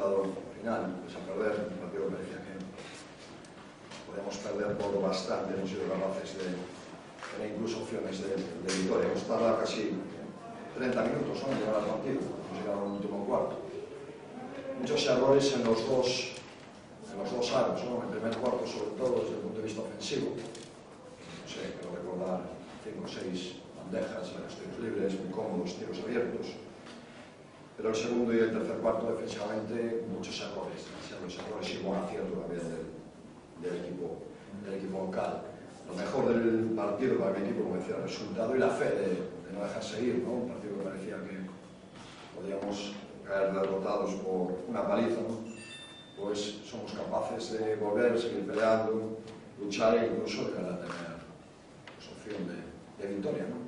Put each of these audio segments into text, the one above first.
resultado final, pues a perder un partido que parecía que podíamos perder por bastante, hemos sido capaces de tener incluso opciones de victoria. Hemos tardado casi 30 minutos, ¿no?, en llegar al partido, hemos llegado al último cuarto. Muchos errores en los dos aros, ¿no?, en el primer cuarto sobre todo desde el punto de vista ofensivo. No sé, quiero recordar 5 o 6 bandejas en los tiros libres, muy cómodos, tiros abiertos. Pero el segundo y el tercer cuarto, defensivamente, muchos errores. Los errores y buen acierto también del equipo local. Lo mejor del partido para mi equipo, como decía, el resultado y la fe de no dejarse ir, ¿no? Un partido que parecía que podíamos caer derrotados por una paliza, ¿no? Pues somos capaces de volver, seguir peleando, luchar e incluso llegar a tener opción de victoria, ¿no?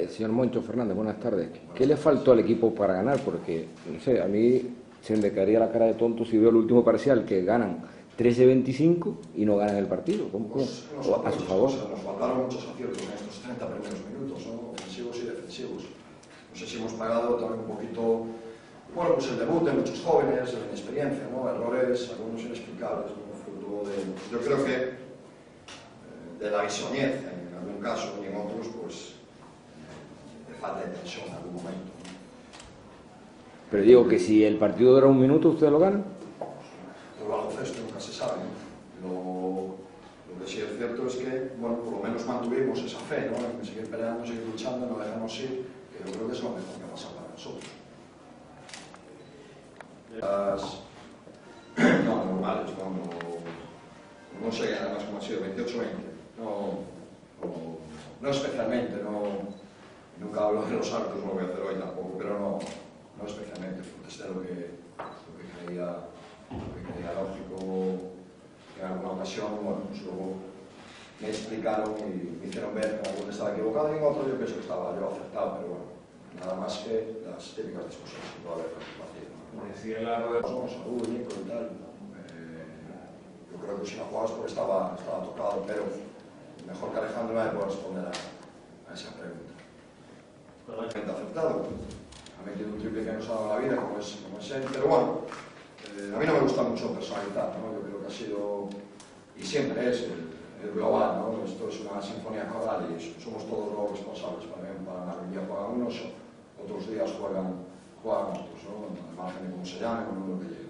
Señor Moncho Fernández, buenas tardes. ¿Qué le faltó al equipo para ganar? Porque, no sé, a mí se me caería la cara de tonto si veo el último parcial, que ganan 13-25 y no ganan el partido. ¿Cómo? Pues, a su favor. Nos faltaron muchos aciertos en estos 30 primeros minutos, ¿no?, ofensivos y defensivos. No sé si hemos pagado también un poquito, bueno, pues el debut de muchos jóvenes, de la inexperiencia, ¿no?, errores, algunos inexplicables, ¿no?, fruto de, yo creo que de la bisoñez en algún caso y en otros, pues de falta de tensión en algún momento, ¿no? Pero digo que si el partido dura un minuto, ¿ustedes lo ganan? El baloncesto nunca se sabe, ¿no? Lo que sí es cierto es que, bueno, por lo menos mantuvimos esa fe, ¿no?, en seguir peleando, seguir luchando, no dejarnos ir, que yo creo que es lo mejor que ha pasado para nosotros. No, normales, no sé, además como ha sido 28-20, no especialmente, nunca hablo de los árbitros, no lo voy a hacer hoy tampoco, pero no especialmente, contesté lo que creía lógico. En alguna ocasión, bueno, pues luego me explicaron y me hicieron ver que alguno estaba equivocado y en otro yo pienso que estaba yo acertado, pero bueno, nada más que las típicas discusiones que puede haber en la partida, ¿no? Decía largo de Somos salud, Nico y tal. Yo creo que si no jugabas porque estaba tocado, pero mejor que Alejandro me puede responder a esa pregunta. Totalmente acertado. Ha metido un triple que nos ha dado la vida, como es él, pero bueno, a mí no me gusta mucho personalizar, ¿no? Yo creo que ha sido, y siempre es, el global, ¿no? Esto es una sinfonía coral y somos todos los responsables. Para un día juegan unos, otros días juegan otros, ¿no?, al margen de cómo se llamen o no lo que llegue.